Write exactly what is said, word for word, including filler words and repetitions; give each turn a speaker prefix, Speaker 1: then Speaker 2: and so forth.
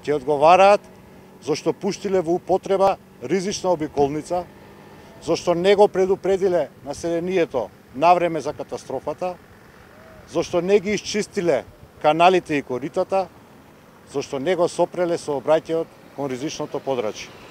Speaker 1: Ќе одговараат зашто пуштиле во употреба ризична обиколница, зашто не го предупредиле населението навреме за катастрофата, зашто не ги исчистиле каналите и коритата, зашто не го сопреле сообраќајот кон ризичното подрачје.